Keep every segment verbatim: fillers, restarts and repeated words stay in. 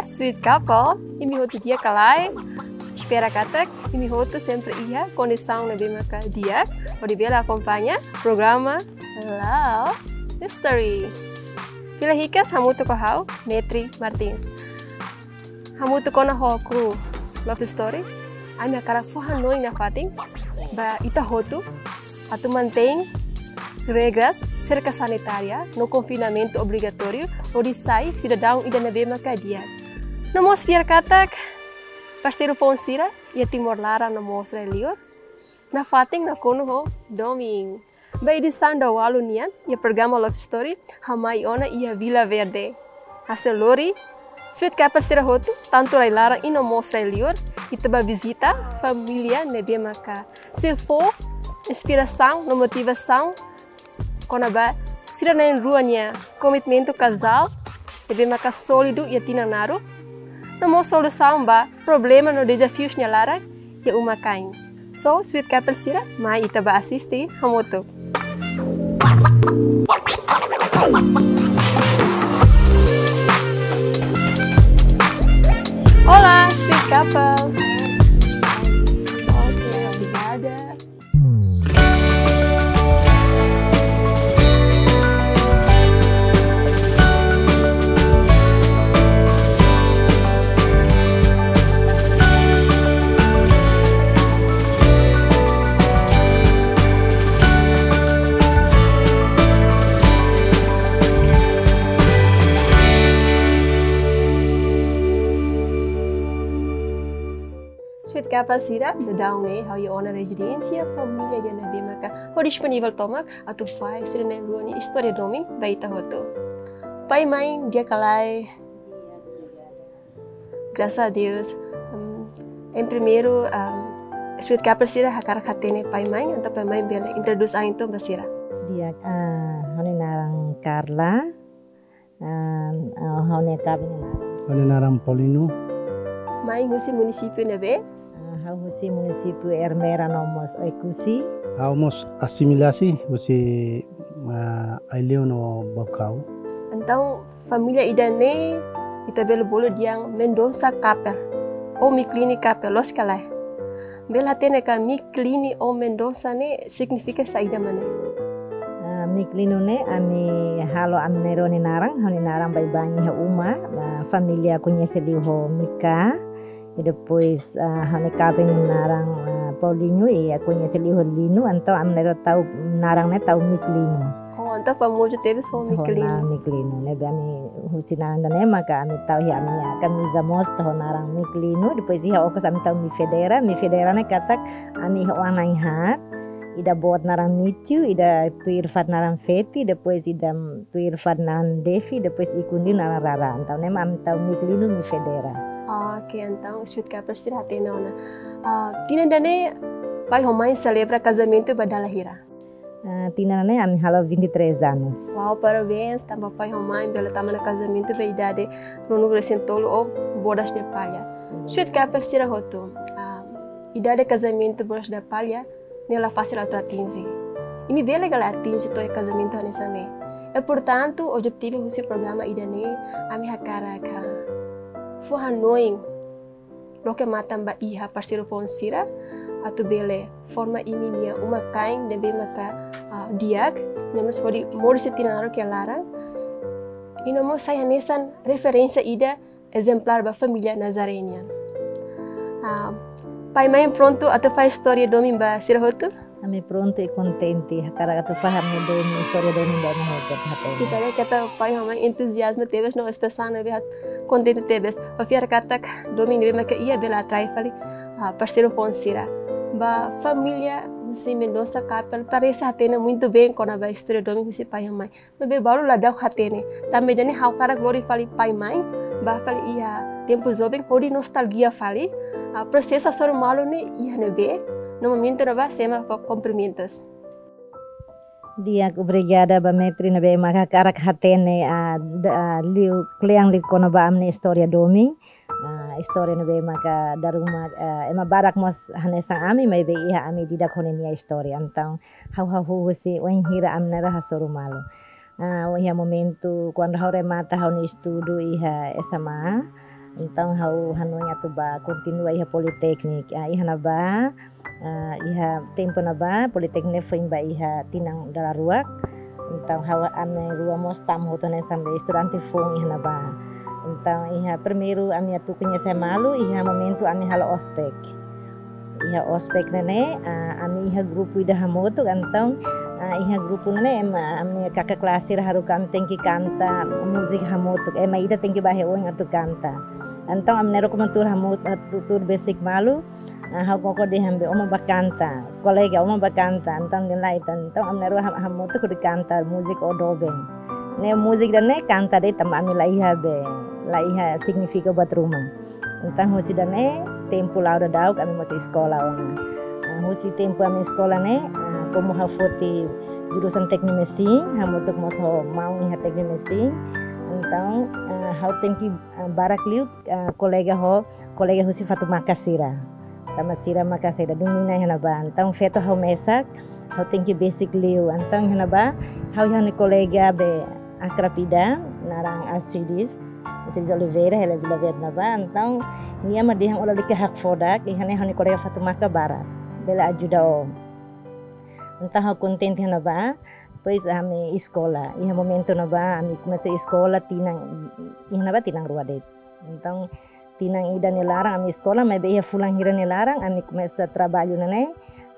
Sweet couple, imi hotu di'ak ka lae? Espera katak imi hotu sempre iha kondisaun ne'ebé maka di'ak, hodi bele akompaña programa Love History. Fila hikas hamutuk ho ha'u, Metri Martins. Hamutuk ona ho kru Love Story, ami hakarak fó hanoin nafatin ba ita hotu atu mantein regras serka sanitária no konfinamentu obrigatóriu hodi sai sidadaun ida ne'ebé maka di'ak. No mós fiar katak parseiru foun sira iha Timor laran no mós rai-liur nafatin nakonu ho domin. Ba edisaun daualu nian iha programa Love Story, ha'u mai ona iha Vila Verde. Hasoru lori, Sweet Couple sira hotu, tantu rai-laran i no mós rai-liur, ita bá vizita família ne'ebé maka sei fó inspirasaun no motivasaun kona-ba sira na'in-rua nia komitmentu kazál ne'ebé maka sólidu iha tinan naruk, no mós solusaun ba problema no dezafius nia laran iha uma-kain. So, Sweet Couple sira, mai ita bá asiste hamutuk. Olá, Sweet Couple. Ok, obrigada. Sweet Couple sira, daudaun ne'e ha'u iha ona rezidénsia família ida ne'ebé maka ho disponivel tomak atu fahe sira na'in-rua nia istória domin ba ita hotu. Pai, mãe, di'ak ka lae? Graças a Deus. Em, em primeiru, em, Sweet Couple sira hakarak hatene pai, mãe, entaun pai, mãe bele introdús an entaun ba sira. Di'ak, ah, ha'u-nia naran Carla. Ah, ah, ha'u-nia kaben nia naran? Ha'u-nia naran Paulino. Mai husi munisípiu ne'ebé? Ah, ha'u husi munisípiu Ermera no mós Oekusi. Ha'u mós asimilasi husi, ah, Aileu no Baucau. Entaun, família ida-ne'e, ita bele bolu dehan Mendonça Couple, ou Mickliny Couple, loos ka lae? Bele hatene ka Mickliny ou Mendonça ne'e signifika saida mak ne'e? Ah, Mickliny ne'e ami halo ami na'in-rua nia naran, ha'u-nia naran baibain iha uma, ah, família koñese liu ho Mica. I depois, ah, ha'u-nia kaben nia naran, ah, Paulinho, i koñese liu ho Lino, entaun ami na'in-rua tau naran ne'e tau Mickliny. Oh, entaun famozu tebes ho Mickliny. Ho naran Mickliny, ne'ebé ami husi naran ida-ne'e maka ami tau iha ami-nia kamiza mós tau ho naran Mickliny, depois iha okos ami tau Mifedera, Mifedera ne'e katak ami iha oan na'in-haat, ida boot naran Mitiu, ida tuir fatin naran Feti, depois ida tuir fatin naran Defi, depois ikus liu naran Rara. Entaun ne'e mak ami tau Mickliny, Mifedera. Oke, entaun Sweet Couple sira hatene ona. Ah, tinan ida-ne'e pai ho mãe selebra kazamentu ba dala hira? Ah, tinan ida-ne'e ami halo vinte e três anos. Wow, parabéns, tanba pai ho mãe bele tama ona kazamentu ba idade ruanulu resin tolu ou bodas de palha. Sweet Couple sira hotu, ah, idade kazamentu bodas de palha ne'e la fasil atu atinje. Imi bele ka lae atinje to'o iha kazamentu hanesan ne'e. I portantu, objetivu husi programa ida-ne'e, ami hakarak fó hanoin, loke matan ba iha parseiru foun sira, atu bele forma imi-nia uma-kain ne'ebé maka, ah, di'ak, no mós hodi moris tinan naruk iha laran. I no mós sai hanesan referénsia ida ezemplár ba família Nazaré nian. Ah, pai, mãe prontu atu fahe istória domin ba sira hotu? Ami prontu i kontente, hakarak atu fahe ami-nia domin, istória domin ba imi hotu, hatene. Ita haree katak pai ho mãe entuziazmu tebes no espresaun ne'ebé hat-, kontente tebes. Ha'u fiar katak domin ne'ebé maka iha bele atrai fali, ah, parseiru foun sira. Ba família husi Mendonça Couple, parese hatene muito bem kona-ba istória domin husi pai ho mãe. Maibé balu la daudaun hatene. Tanba ida-ne'e ha'u hakarak lori fali pai, mãe, bá fali iha tempu joven, hodi nostalgia fali, ah, prosesu hasoru malu ne'e iha ne'ebé, no momentu ne'ebá semo fó kumprimentus. Di'ak, obrigada ba Metri ne'ebé maka hakarak hatene, ah, da-, ah, liu kle'an liu kona-ba ami-nia istória domin. Ah, istória ne'ebé maka dala ruma, ah, ema barak mós hanesan ami, maibé iha ami ida-idak ho ninia istória. Entaun, ha'u hahú husi wainhira ami na'in-rua hasoru malu. Ah, iha momentu kuandu ha'u remata ha'u-nia estudu iha S M A, Entaun ha'u hanoin atu bá kontinua iha Politeknik. Ah, iha ne'ebá, ah, iha tempu ne'ebá Politeknik foin ba iha tinan dala rua. Entaun ha'u, ami rua mós tama hotu hanesan be estudante foun iha ne'ebá. Entaun iha primeiru ami atu koñese malu iha momentu ami halo ospek. Iha ospek ne'e ne'e, ah, ami iha grupu ida hamutuk, entaun, ah, iha grupu ne'e ne'e ema, ami kaka kelas sira haruka ami tenke kanta múzika hamutuk. Ema ida tenke bá iha oin atu kanta. Entaun ami na'in-rua komantur hamutuk, ah, tuur besik malu, ah, ha'u koko dehan be ó mak bá kanta. Kolega, ó mak bá kanta. Entaun dehan lae, entaun ami na'in-rua ha-, hamutuk hodi kanta múzika Ó Doben. Ne'e múzika ida-ne'e kanta de'it tanba ami la iha be, la iha signifika buat ruma. Entaun husi ida-ne'e, tempu la'o daudauk ami mós eskola ona. Ah, husi tempu ami eskola ne'e, ah, komu ha'u foti jurusan teknik mesin, hamutuk mós ho maun iha teknik mesin. Entaun, ah, ha'u tenke, ah, barak liu, ah, kolega ho, kolega husi Fatumaka sira. Tanba sira maka sira domina iha ne'ebá. Entaun feto ha'u mesak, ha'u tenke besik liu. Entaun iha ne'ebá, ha'u iha ha'u-nia kolega be akrab ida, naran Alcides, Alcides Oliveira, hela Vila Verde ne'ebá. Entaun nia mak dehan ó lalika hakfodak, iha ne'e ha'u-nia kolega Fatumaka barak. Bele ajuda ó. Entaun ha'u kontente iha ne'ebá, depois ami eskola. Iha momentu ne'ebá, ami komesa eskola tinan, iha ne'ebá tinan rua de'it. Entaun, tinan ida nia laran ami eskola, maibé iha fulan hira nia laran ami komesa traballu ne'e ne'e.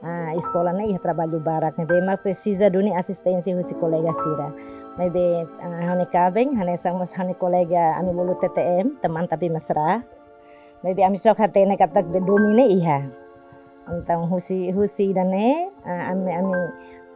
Ah, eskola ne'e iha traballu barak ne'ebé mak presiza duni asisténsia husi kolega sira. Maibé, ah, ha'u-nia kaben, hanesan mós ha'u-nia kolega ami bolu T T M, teman tapi mesra. Maibé ami só hatene katak be domin ne'e iha. Entaun husi, husi ida-ne'e, ah, ami, ami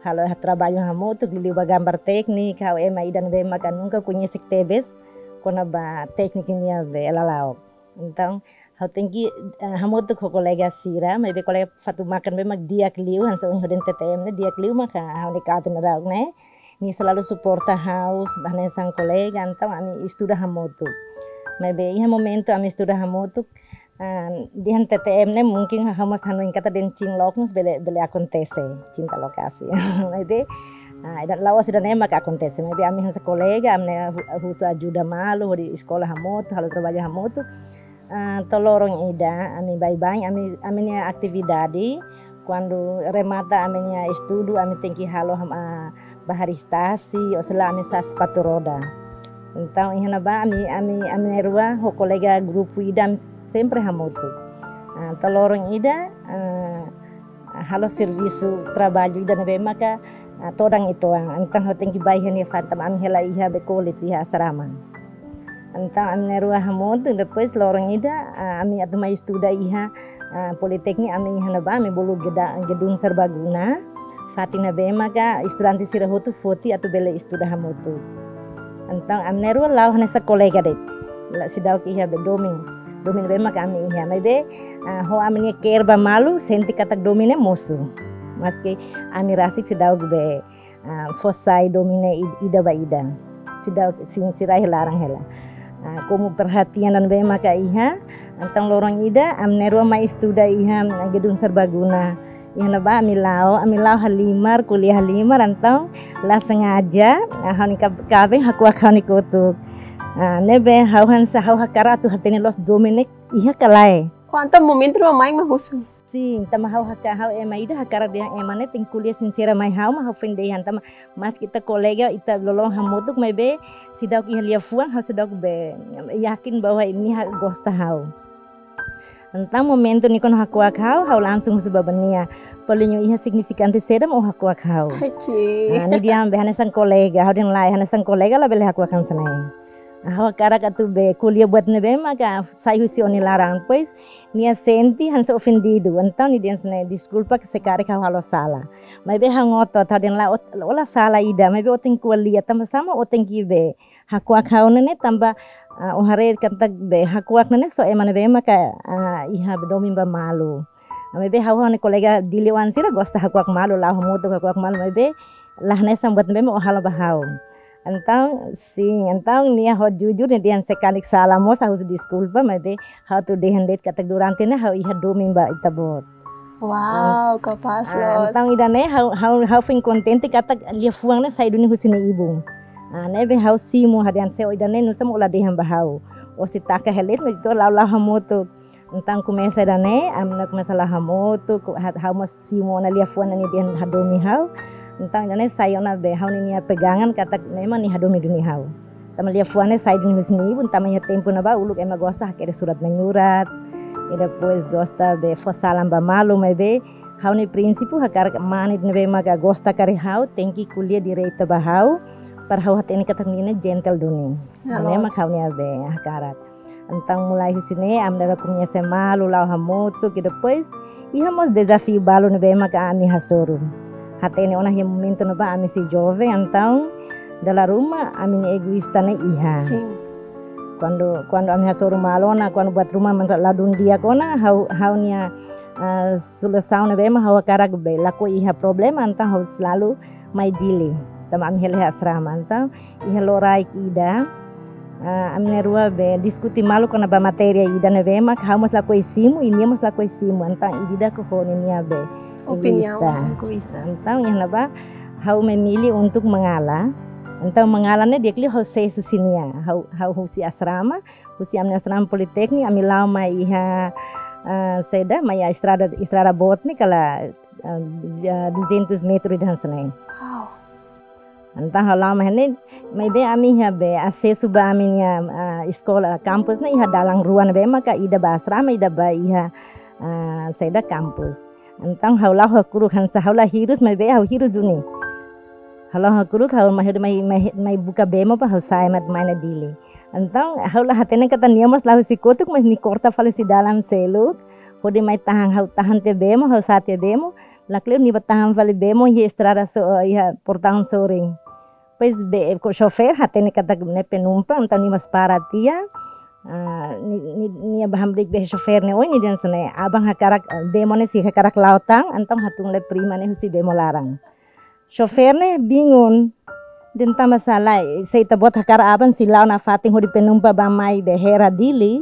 halo traballu hamutuk, liuliu ba gambar teknik, ha'u ema ida ne'ebé maka nunka koñese tebes kona-ba teknik nian be lala'ok. Entaun, ha'u tenke, eh, hamutuk ho kolega sira, maibé kolega Fatumaka ne'ebé mak di'ak liu, hanesan ohin ha'u dehan T T M ne'e di'ak liu maka ha'u-nia kaben daudaun ne'e. Nia selalu suporta ha'u, hanesan kolega, entaun ami estuda hamutuk. Maibé iha momentu ami estuda hamutuk, ah, dehan T T M ne'e mungkin ha'u mós hanoin katak dehan cinlok mós bele, bele akontese, cinta lokasi. Maibé, ah, ida la'ós ida-ne'e maka akontese. Maibé ami hanesan kolega, ami ne'e hu-, husu ajuda malu, hodi eskola hamutuk, halo traballu hamutuk. Ah, to'o loron ida, ami baibain, ami, ami-nia atividade, kuandu remata ami-nia estudu, ami tenke halo ham-, ah, bá hariis tasi, ou sei la ami sa'e sapatu roda. Entaun, iha ne'ebá, ami, ami, ami na'in-rua, ho kolega grupu ida, ami sempre hamutuk. Ah, to'o loron ida, ah, halo servisu traballu ida ne'ebé maka, ah, todan uitoan. Entaun ha'u tenke bá iha nia fatin tanba ami hela iha be kolit iha asrama. Entaun ami na'in-rua hamutuk, depois loron ida, ah, ami atu mai estuda iha, ah, Politeknik ami iha ne'ebá, ami bolu geda-, gedung serbaguna. Fatin ne'ebé maka estudante sira hotu foti atu bele estuda hamutuk. Entaun ami na'in-rua la'o hanesan kolega de'it. La seidauk iha be domin. Domin ne'ebé maka ami iha. Maibé, ah, ho ami-nia ke'er ba malu, sente katak domin ne'e mosu. Maski ami rasik seidauk be, ah, fó sai domin ne'e id-, ida ba ida. Seidauk, sin sira iha laran hela. Ah, komu perhatian ne'ebé maka iha, entaun loron ida, ami na'in-rua mai estuda iha, ah, gedung serbaguna. Iha ne'ebá ami la'o, ami la'o halimar, ko'alia halimar, entaun la sengaja, ah, ha'u-nia kab-, kaben hakuak ha'u-nia kotuk. Ah, ne'ebé ha'u hanesan ha'u hakarak atu hatene loos domin ne'e iha ka lae. Oh, entaun momentu ne'ebá mai mak husu? Sin, tanba ha'u haka-, ha'u ema ida hakarak dehan ema ne'e tenke ko'alia sinsera mai ha'u mak ha'u foin dehan tanba maski ita kolega, ita loloon hamutuk maibé seidauk iha liafuan, ha'u seidauk be yakin bahwa nia gosta ha'u. Entaun momentu nia kuandu hakuak ha'u, ha'u langsung husu ba nia. Paling iha signifikante saida mak ó hakuak ha'u. Oke. Ah, nia dehan be hanesan kolega, ha'u dehan lae, hanesan kolega labele hakuak hanesan ne'e. Ah, ha'u hakarak atu be ko'alia buat ne'ebé maka sai husi ó-nia laran. Depois, nia sente hanesan ofendidu. Entaun nia dehan hanesan ne'e, deskulpa se karik ha'u halo sala. Maibé ha'u ngotot, ha'u dehan lae, ó, ó la sala ida, maibé ó tenke ko'alia, tanba sá mak ó tenke be hakuak ha'u ne'e ne'e tanba, ah, ó haree katak be hakuak ne'e ne'e só ema ne'ebé maka, ah, iha be domin ba malu. Maibé ha'u ho ha'u-nia kolega Dili wan sira gosta hakuak malu, la'o hamutuk hakuak malu, maibé la hanesan buat ne'ebé mak ó halo ba ha'u. Entaun, sin, entaun nia ho jujur nia dehan se karik sala mós ha'u husu deskulpa, maibé ha'u atu dehan de'it katak durante ne'e ha'u iha domin ba ita-boot. Wow, kapás loos. Ah, entaun ida-ne'e ha'u, ha'u, ha'u foin kontente katak liafuan ne'e sai duni husi nia ibun. Ah, ne'ebé ha'u simu ha'u dehan se ó ida-ne'e nusá mak ó la dehan ba ha'u. Osi taka helet, mas ita la'o la'o hamutuk. Entaun komesa ida-ne'e, ami-nia komesa la'o hamutuk, ha'u mós simu ona liafuan ne'ebé hadomi ha'u. Entaun ida-ne'e sai ona be ha'u-nia pegangan katak memang nia hadomi duni ha'u. Tanba liafuan ne'e sai duni husi nia ibun, tanba iha tempu ne'ebá uluk ema gosta hakerek surat menyurat. I depois gosta be fó salam ba malu, maibé ha'u-nia prinsípiu hakarak mane ne'ebé maka gosta karik ha'u, tenke ko'alia direta ba ha'u, para ha'u hatene katak nia ne'e gentle duni. Ne'e mak ha'u-nia be hakarak. Entaun mulai husi ne'e, ami na'in-rua koñese malu, la'o hamutuk, i depois iha mós dezafiu balu ne'ebé maka ami hasoru. Hatene ona iha momentu ne'ebá ami sei joven, entaun dala ruma ami-nia egoísta ne'e iha. Sin. Kuandu, kuandu ami hasoru malu ona, kuandu buat ruma mantra ladún di'ak ona, ha'u, ha'u-nia, ah, solusaun ne'ebé mak ha'u hakarak be lakohi iha problema, entaun ha'u selalu mai Dili. Tanba ami hela iha asrama, entaun iha loraik ida, ah, ami na'in-rua be diskute malu kona-ba matéria ida ne'ebé mak ha'u mós lakohi simu, i nia mós lakohi simu, entaun ida-idak ho ninia be opiniaun egoísta. Egoísta. Entaun iha ne'ebá ha'u memilih untuk mengalah. Entaun mengalah ne'e di'ak liu ha'u sees husi nia, ha'u, ha'u husi asrama, husi ami-nia asrama politeknik, ami la'o mai iha, ah, saida, mai iha estrada, estrada boot ne'e kala, ah, ah, duzentos metru ida hanesan ne'e. Wow. Entaun ha'u la'o mai ne'e, maibé ami iha be asesu ba ami-nia, ah, eskola, kampus ne'e iha dalan rua ne'ebé maka ida ba asrama, ida ba iha, ah, saida, kampus. Entaun ha'u la'o hakuruk hanesan ha'u la hirus, maibé ha'u hirus duni. Ha'u la'o hakuruk, ha'u mai, mai, mai, mai buka bemo para ha'u sa'e mak mai ona Dili. Entaun ha'u la hatene katak nia mós la'o husi kotuk, mas nia korta fali husi dalan seluk. Hodi mai tahan, ha'u tahan tiha bemo, ha'u sa'e tiha bemo. Lakleur nia bá tahan fali bemo iha estrada so, iha portaun sorin. Depois be, ko xofér hatene katak ne'e penumpang, entaun nia mós para tiha. Ah, nia, nia, nia bá hamriik be xofér ne'e, oi, nia dehan hanesan ne'e, aban hakarak, eh, bemo ne'e sei hakarak la'o tan, entaun hatún lai prima ne'e husi bemo laran. Xofér ne'e bingung. Dehan tanba sá lae, se ita-boot hakarak aban sei la'o nafatin hodi penumpang bá mai be Hera Dili,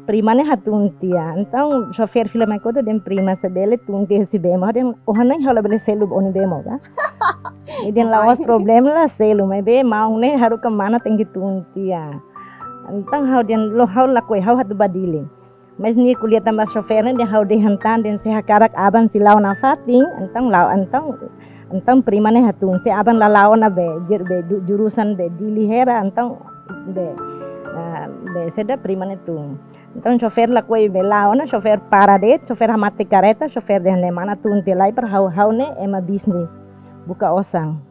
prima ne'e hatún tiha. Entaun xofér fila mai kotuk dehan prima se bele tun tiha husi bemo. Dehan, oh, ha'u hanoin ha'u labele selu ba ó-nia bemo ka. Nia dehan la'ós problema, la selu, maibé maun ne'e haruka mana tenke tun tiha. Entaun ha'u dehan, loos, ha'u lakohi, ha'u atu bá Dili. Mas nia ko'alia tan ba xofér ne'e dehan, ha'u dehan tan dehan se hakarak aban sei la'o nafatin, entaun la'o, entaun, entaun prima ne'e hatún, se aban la la'o ona be, jur-, be, du-, jurusan be Dili Hera, entaun be, ah, be saida, prima ne'e tun. Entaun xofér lakohi be la'o ona, xofér para de'it, xofér hamate kareta, xofér dehan ne'e mana tun tiha lai para ha'u, ha'u ne'e ema bisnis, buka osan.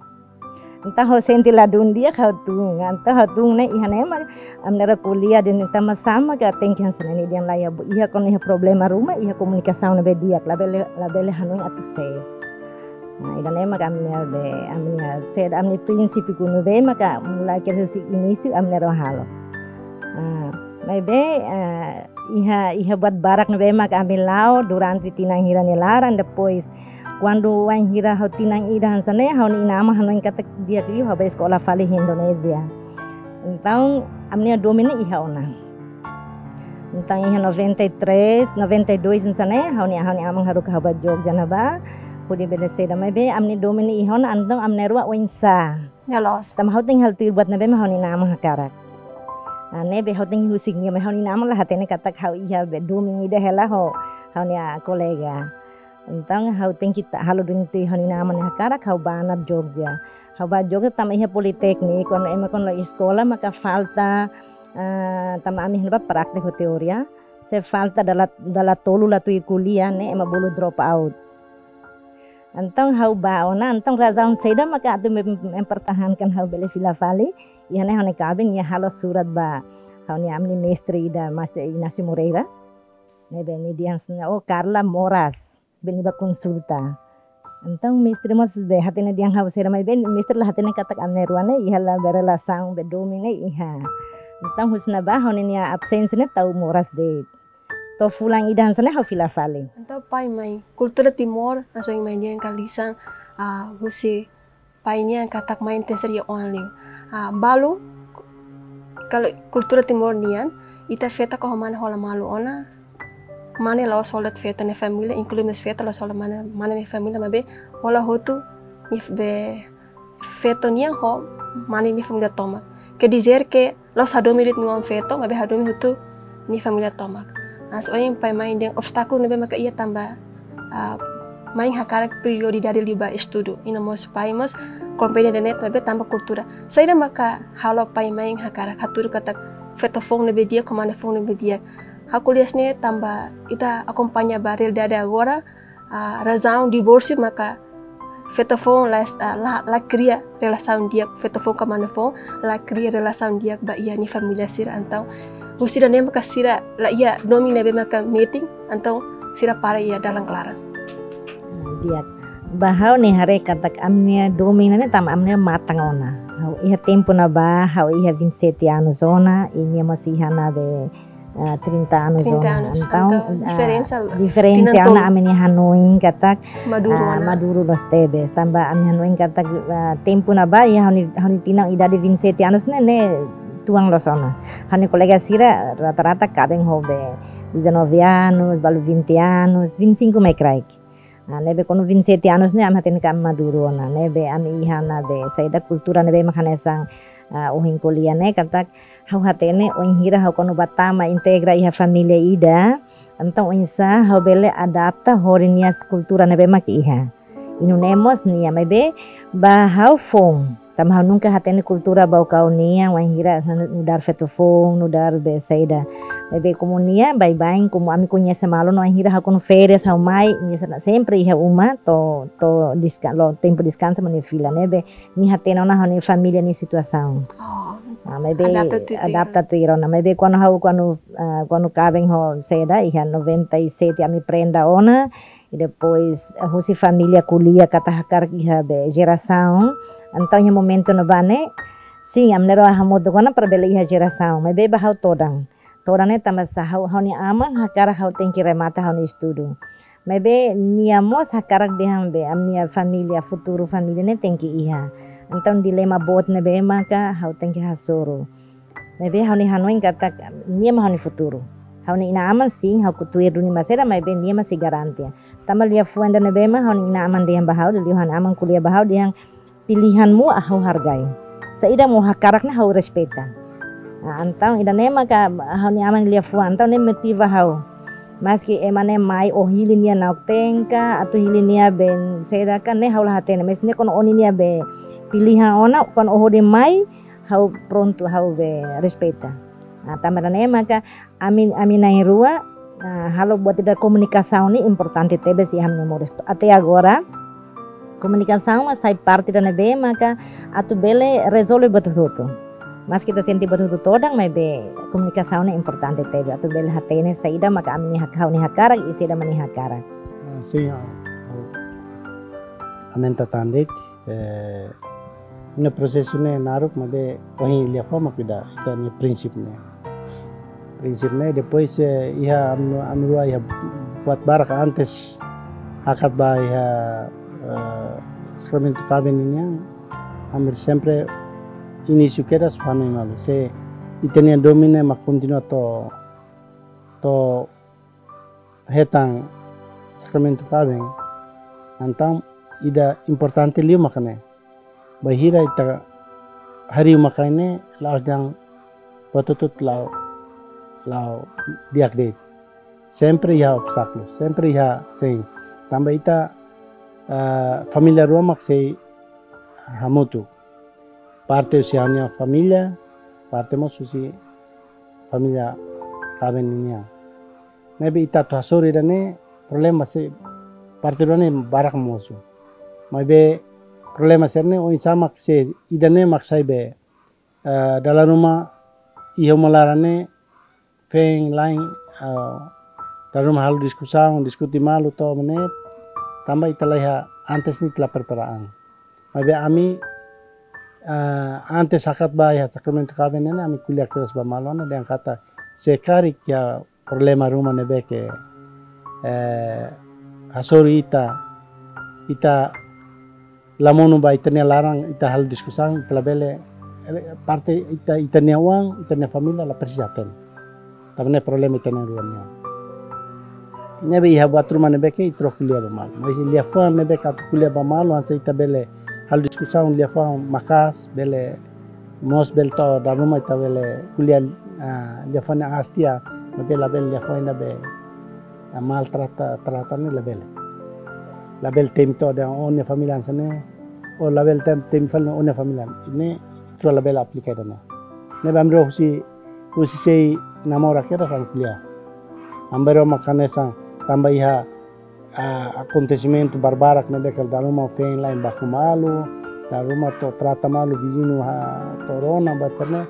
Entaun ha'u sente ladún di'ak, ha'u tun. Entaun ha'u tun ne'e iha ne'e mak ami na'in-rua ko'alia dehan tanba sá mak tenke hanesan ne'e, nia dehan lae, iha, iha kuandu iha problema ruma, iha komunikasaun ne'ebé di'ak, labele, labele hanoin atu sees. Nah, ida-ne'e mak ami-nia be, ami-nia saida, ami-nia prinsípiu ne'ebé maka mulai husi inísiu ami na'in-rua halo. Ah, maibé, ah, iha, iha buat barak ne'ebé maka ami la'o durante tinan hira nia laran, depois kuandu wainhira ha'u tinan ida hanesan ne'e, ha'u-nia inan-aman hanoin katak di'ak liu ha'u bá eskola fali iha Indonézia. Entaun, ami-nia domin ne'e iha ona. Entaun iha noventa e três, noventa e dois hanesan ne'e, ha'u-nia, ha'u-nia aman haruka ha'u bá Jogja ne'ebá, hodi bele saida, maibé ami-nia domin ne'e iha ona, entaun ami na'in-rua oinsá. Ya, loos. Tanba ha'u tenke halo tuir buat ne'ebé mak ha'u-nia inan-aman hakarak. Ah, ne'ebé ha'u tenke husik nia, maibé ha'u-nia inan-aman la hatene katak ha'u iha be domin ida hela ho ha'u-nia kolega. Entaun ha'u tenke ta-, halo duni tuir ha'u-nia inan-aman nia hakarak, ha'u bá ona Jogja. Ha'u bá Jogja tanba iha politeknik, kuandu ema kuandu la'o eskola maka falta, ah, tanba ami iha ne'ebá praktek ho teoria. Se falta dala, dala tolu la tuir ko'alia ne'e ema bolu drop out. Entaun ha'u bá ona, entaun razaun saida maka atu mem-, mempertahankan ha'u bele fila fali. Iha ne'e ha'u-nia kaben nia halo surat ba ha'u-nia, ami-nia mestre ida, Mestre Inácio Moreira. Ne'ebé nia dehan hanesan ne'e, oh, Carla moras. Be nia bá konsulta. Entaun mestre mós be hatene dehan ha'u saida, maibé mestre la hatene katak ami na'in-rua ne'e iha la be relasaun be domin ne'e iha. Entaun husi ne'ebá ha'u-nia absénsia ne'e tau moras de'it. To'o fulan ida hanesan ne'e ha'u fila fali. Entaun pai mai kultura Timor, hanesan ohin mai dehan ka lisan, ah, husi pai nian katak mane tenke ser iha oan liu. Ah, balu, kalau kultura Timor nian, ita feto ka ho mane hola malu ona, mane la'ós hola feto nia família, inklui mós feto la'ós hola mane, mane nia família, maibé hola hotu nia f-, be feto nian ho mane nia família tomak. Quer dizer que la'ós hadomi de'it nia oan-feto, maibé hadomi hotu nia família tomak. Ah, so ohin pai-mãe dehan obstákulu ne'ebé maka iha tanba, ah, mãe hakarak prioridade liu ba estudu. I no mós pai mós komprende ida-ne'e, maibé tanba kultura. Saida maka halo pai-mãe hakarak hatudu katak feto foun ne'ebé di'ak, ho mane foun ne'ebé di'ak? Ha'u ko'alia hanesan ne'e tanba ita akompaña ba realidade agora, ah, razaun divórsiu maka feto foun la, ah, la, la kria relasaun di'ak, feto foun ka mane foun la kria relasaun di'ak ba iha nia família sira. Entaun husi ida-ne'e maka sira la iha domin ne'ebé maka metin, entaun sira para iha dalan klaran. Ah, di'ak. Ba ha'u-nia haree katak ami-nia domin ne'e tanba ami-nia matan ona. Ha'u iha tempu ne'ebá, ha'u iha vinte e sete anos ona, i nia mós iha ne'ebé ah, trinta anos trinta ona. Anos. Entaun, entaun, ah, diferensa tinan ona tolu. Ami-nia hanoin katak, maduru ah, ona. Maduru loos tebes. Tanba ami hanoin katak, ah, tempu ne'ebá, iha ha'u-nia, ha'u-nia tinan idade vinte e sete anos ne'e, ne'e tuan loos ona. Ha'u-nia kolega sira rata-rata kaben ho be dezanove anos, balu vinte anos, vinte e cinco mai kraik. Ah, ne'ebé kuandu vinte e sete anos ne'e, ami hatene katak maduru ona, ne'ebé ami iha ne'ebé saida kultura ne'ebé mak hanesan, ah, ohin ko'alia ne'e katak ha'u hatene wainhira ha'u kuandu bá tama integra iha família ida, entaun oinsá ha'u bele adapta hodi nia kultura ne'ebé mak iha. I nune'e mós nia, maibé ba ha'u foun. Tanba ha'u nunka hatene kultura Baucau nian, wainhira nu'udar feto foun, nu'udar be saida. Maibé komu nia, baibain, komu ami koñese malu ona, wainhira ha'u kuandu férias ha'u mai, nia sena sempre iha uma, to'o, to'o deska-, loos tempu deskansa mak nia fila, ne'ebé nia hatene ona ha'u-nia família nia situasaun. Oh. Ah, maibé adapta tuir, adapta tuir ona. Maibé kuandu ha'u, kuandu, ah, kuandu kaben ho saida, iha noventa e sete ami prenda ona, i depois, eh, husi família ko'alia katak hakarak iha be jerasaun. Entaun iha momentu ne'ebá ne'e, sin, ami na'in-rua hamutuk ona para bele iha jerasaun. Maibé ba ha'u todan. Todan ne'e tanba sá, ha'u, ha'u-nia aman hakarak ha'u tenke remata ha'u-nia estudu. Maibé nia mós hakarak dehan be, ami-nia família, futuru família ne'e tenke iha. Entaun dilema boot ne'ebé maka ha'u tenke hasoru. Maibé ha'u-nia hanoin katak nia mak ha'u-nia futuru. Ha'u-nia inan-aman sin, ha'u kotu duni maibé nia mak sei garante. Tanba liafuan ida ne'ebé mak ha'u-nia inan-aman dehan ba ha'u, liuliu ha'u-nia aman ko'alia ba ha'u dehan pilihanmu ha'u hargai. Saida mak ó hakarak ne'e ha'u respeita. Ah, entaun ida-ne'e maka ha'u-nia aman liafuan, entaun ne'e motiva ha'u. Maski ema ne'e mai ó hili nia na'ok-teen ka, atu hili nia be saida ka ne'e ha'u la hatene. Maibé ne'e kuandu ó-nia be pilihan ona, kuandu ó hodi mai, ha'u prontu, ha'u be respeita. Ah, tanba ne'e maka ami, ami na'in-rua, ah, halo buat ida komunikasaun ne'e importante tebes iha ami-nia moris. Até agora, komunikasaun mak sai parte ida ne'ebé maka atu bele rezolve buat hotu-hotu. Maski ita sente buat hotu-hotu todan, maibé komunikasaun ne'e importante tebes. Atu bele hatene saida maka ami-nia hak-, ha'u-nia hakarak, i saida mak nia hakarak. Ah, sin, ah, ah. Aumenta tan de'it. Eh, ne'e prosesu ne'e naruk, maibé ohin liafuan mak ida, ita-nia prinsip ne'e. Prinsip ne'e, depois, eh, iha ami, ami rua iha buat barak antes hakat ba iha, eh, sakramentu kaben nian, ami sempre inísiu kedas fanu malu. Se ita-nia domin ne'e mak kontinua to'o, to'o hetan sakramentu kaben, entaun ida importante liu maka ne'e. Bainhira ita harii maka ne'e, la'ós dehan buat hotu-hotu la'o, la'o di'ak de'it. Sempre iha obstákulu, sempre iha sin. Tanba ita, eh, família rua mak sei hamutuk. Parte husi ha'u-nia família, parte mós husi família kaben ninian. Ne'ebé ita atu hasoru ida-ne'e, problema sei parte rua ne'e barak mosu. Maibé problema sira-ne'e oinsá mak sei, ida-ne'e mak sai be, eh, dala ruma iha uma laran ne'e, feen lain, eh, dala ruma halo diskusaun, diskute malu to'o ne'e, tanba ita la iha antes ne'e ita la prepara an. Maibé ami, eh, antes hakat ba iha sakramentu kaben ne'e, ami ko'alia kedas ba malu ona dehan katak se karik iha problema ruma ne'ebé ke, eh, hasoru ita, ita la monu ba ita-nia laran, ita halo diskusaun, ita labele, parte ita, ita-nia oan, ita-nia família la presiza hatene. Tanba ne'e problema ita na'in-rua nian. Ne'ebé iha buat ruma ne'ebé ke ita rua ko'alia ba malu. Maibé liafuan ne'ebé ke atu ko'alia ba malu, hanesan ita bele halo diskusaun liafuan maka'as, bele Mós bele to'o dala ruma ita bele ko'alia, ah, liafuan aas tiha, maibé labele liafuan ida be, ah, maltrata, trata ne'e labele. Labele temi to'o dehan ó-nia família hanesan ne'e, ou labele tem-, temi fali ó-nia família. Ne'e, ita labele aplika ida-ne'e. Ne'ebé ami rua husi, husi sei namora kedas ami ko'alia. Ami rua mak hanesan tanba iha, ah, akontesimentu barbarak ne'ebé ke dala ruma feen la'en baku malu, dala ruma to'o trata malu viziñu to'o rona buat sira-ne'e.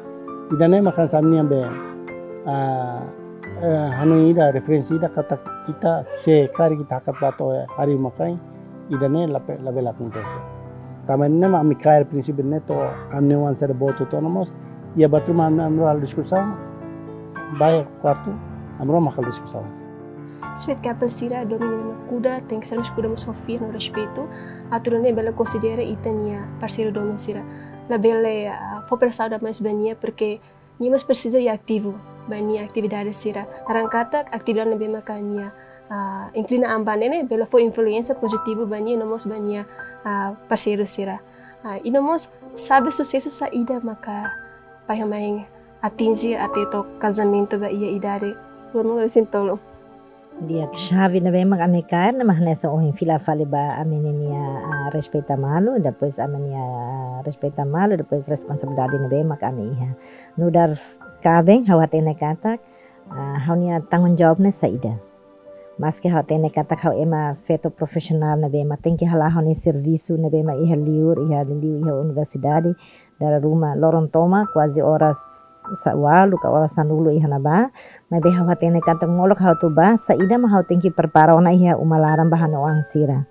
Ida-ne'e mak hanesan ami-nian be, ah, eh, hanoin ida, referénsia ida katak ita se karik ita hakat bá to'o harii uma-kain, ida-ne'e lape-, labele akontese. Tanba ne'e mak ami kaer prinsípiu ne'e to'o ami-nia oan sira boot hotu ona mós, iha buat ruma ami, ami rua halo diskusaun, bá iha kuartu, ami rua mak halo diskusaun. Sweet couple sira, domin ne'ebé mak kuda, tenke ser mós kuda mós ho fiar no respeitu, atu nune'e bele konsidera ita-nia parseiru domin sira. Labele, ah, fó presaun demais ba nia, porque nia mós presiza iha ativu ba nia atividade sira. Laran katak atividade ne'ebé maka nia, ah, inklina an ba ne'e ne'e, bele fó influénsia pozitivu ba nia no mós ba nia, ah, parseiru sira. Ah, i no mós xave susesu saida maka pai ho mãe atinje até to'o kazamentu ba iha idade dua ribu dua puluh. Di'ak, xave ne'ebé mak ami kaer ne'e mak hanesan ohin fila fali ba ami-nia, ah, respeita malu, depois ami-nia, ah, respeita malu, depois responsabilidade ne'ebé mak ami iha. Nu'udar kaben, ha'u hatene katak, ah, ha'u-nia tanggung jawab ne'e saida. Maski ha'u hatene katak ha'u ema feto profisionál ne'ebé mak tenke hala'o ha'u-nia servisu ne'ebé mak iha liur, iha liur, iha universidade, dala ruma loron tomak, kuaze oras sa-, ualu ka oras sanulu iha ne'ebá, maibé ha'u hatene katak molok ha'u atu bá, saida mak ha'u tenke prepara ona iha uma laran ba ha'u-nia oan sira.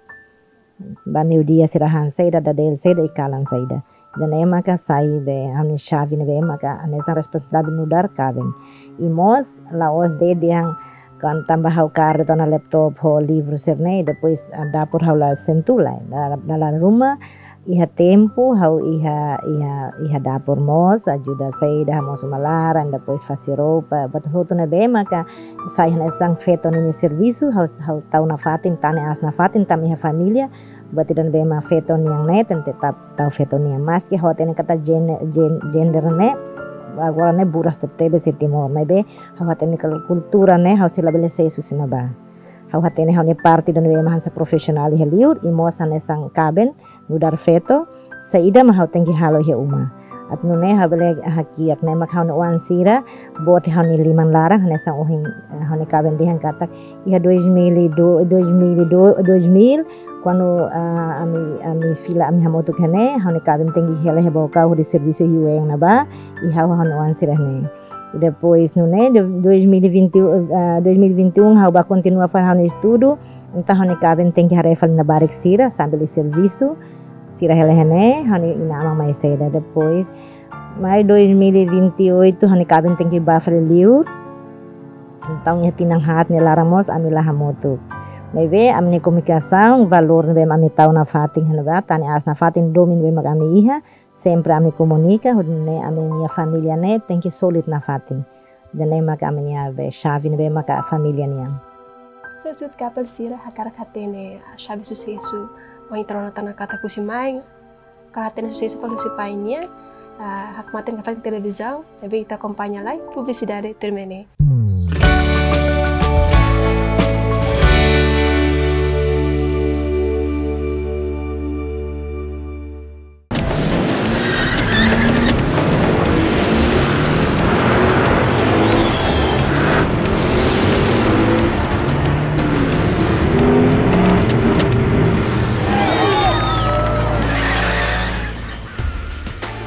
Ba meiudia sira han saida, dadeel saida, i kalan saida. Ida-ne'e maka sai be ha'u-nia xave ne'ebé maka hanesan responsabilidade nu'udar kaben. I mós la'ós de'it dehan kan tanba ha'u kaer de'it ona laptop ho livru sira-ne'e, depois, ah, dapur ha'u la sentu lai. Da-, dala ruma iha tempu ha'u iha, iha, iha dapur mós, ajuda saida, hamoos uma laran, depois fase roupa, buat hotu ne'ebé maka sai hanesan feto ninia servisu, ha'u, ha'u tau nafatin, tane aas nafatin, tanba iha família, buat ida ne'ebé mak feto nian ne'e, tenke tau, tau feto nian. Maski ha'u hatene katak gen-, gen-, gender ne'e, agora ne'e buras tebetebes iha Timor, maibé ha'u hatene katak kultura ne'e, ha'u sei labele sesu husi ne'ebá. Ha'u hatene ha'u-nia parte ida ne'ebé mak hanesan profisionál iha liur, i mós hanesan kaben, nu'udar feto, saida mak ha'u tenke halo iha uma. Atu nune'e ha'u bele hakiak ne'e mak ha'u-nia oan sira, boot iha ha'u-nia liman laran, hanesan ohin, eh, ha'u-nia kaben dehan katak, iha dois mil e dois, dois mil e dois, dois mil, kuandu, ah, ami, ami fila ami hamutuk iha ne'e, ha'u-nia kaben tenke hela iha Baucau hodi servisu iha U N ne'ebá, i ha'u ho ha'u-nia oan sira ne'e. I depois, nune'e, de dois mil e vinte, ah, dois mil e vinte e um, ha'u bá kontinua fali ha'u-nia estudu, entaun ha'u-nia kaben tenke haree fali labarik sira, sambil servisu, sira hela iha ne'e, ha'u-nia inan-aman mai saida. Depois, mai dois mil e vinte e oito, ha'u-nia kaben tenke bá fali liur, entaun iha tinan haat nia laran mós ami la hamutuk. Maibé, ami-nia komunikasaun, valór ne'ebé mak ami tau nafatin iha ne'ebá, tane aas nafatin, domin ne'ebé mak ami iha, sempre ami komunika, hodi nune'e ami-nia família ne'e tenke sólidu nafatin. Ida-ne'e maka ami-nia be xave ne'ebé maka família nian. So, sweet couple sira, hakarak hatene xave susesu, ohin ita rona tiha ona katak husi mãe, hakarak hatene susesu fali husi pai nian, ah, hakmatek nafatin televizaun, ne'ebé ita akompaña lai, publisidade termene.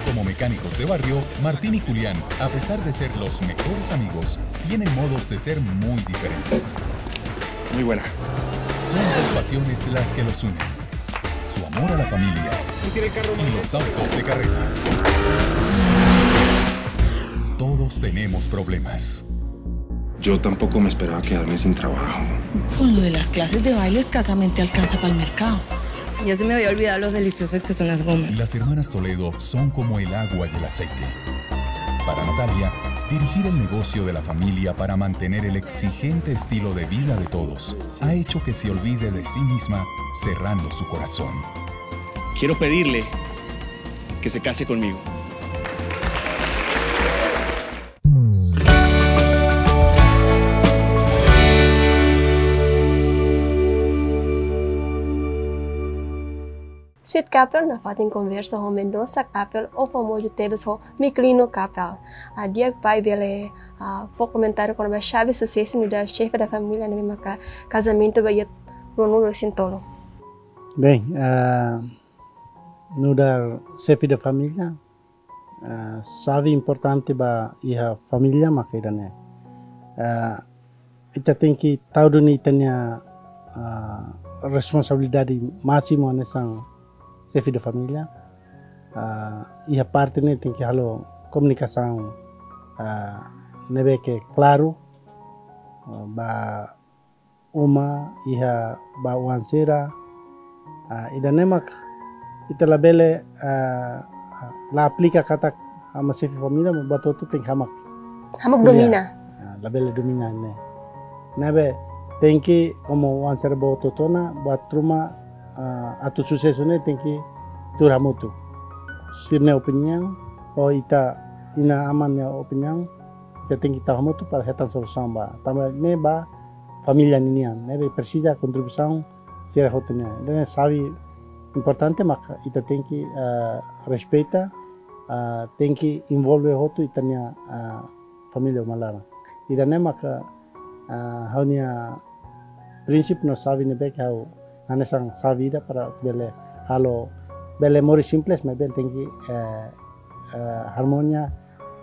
Como mecánicos de barrio, Martín y Julián, a pesar de ser los mejores amigos, tienen modos de ser muy diferentes. Muy buena. Son dos pasiones las que los unen. Su amor a la familia y los autos de carreras. Todos tenemos problemas. Yo tampoco me esperaba quedarme sin trabajo. Con lo de las clases de baile, escasamente alcanza para el mercado. Ya se me había olvidado lo deliciosas que son las gomas. Las hermanas Toledo son como el agua y el aceite. Para Natalia, dirigir el negocio de la familia para mantener el exigente estilo de vida de todos ha hecho que se olvide de sí misma, cerrando su corazón. Quiero pedirle que se case conmigo. Sweet Kapel nafatin konversa ho Mendonça Kapel, o famozu tebes ho Miklino Kapel. Ah, di'ak, pai bele, ah, fó komentáriu kona-ba xave susesu nu'udar xefe da família ne'ebé maka kazamentu ba iha ruanulu-resin-tolu. Bem, ah, nu'udar xefe da família, ah, xave importante ba iha família maka ida-ne'e. Ah, ita tenke tau duni ita-nia, ah, responsabilidade másimu hanesan xefe da família. Ah, iha parte ne'e tenke halo komunikasaun, ah, ne'ebé ke klaru, ah, ba uma, iha ba oan sira. Ah, ida-ne'e mak ita labele, ah, la aplika katak ha'u mak xefe família, buat hotu tenke ha'u mak, ha'u mak ko'alia. Domina. Ah, labele domina ne'e. Ne'ebé tenke, komu oan sira boot hotu ona, buat ruma, ah, atu susesu ne'e tenke tuur hamutuk. Sira-nia opiniaun, ou ita inan-aman nia opiniaun, ita tenke tau hamutuk para hetan solusaun ba. Tanba ne'e ba família ninian, ne'ebé presiza kontribuisaun sira hotu nian. Ida-ne'e xave importante maka ita tenke, eh, respeita, eh, tenke envolve hotu ita-nia, eh, família uma laran. Ida-ne'e maka, eh, ha'u-nia prinsípiu no xave ne'ebé ke ha'u hanesan xave ida para bele halo, bele moris simples, maibé tenke, eh, eh, harmonia,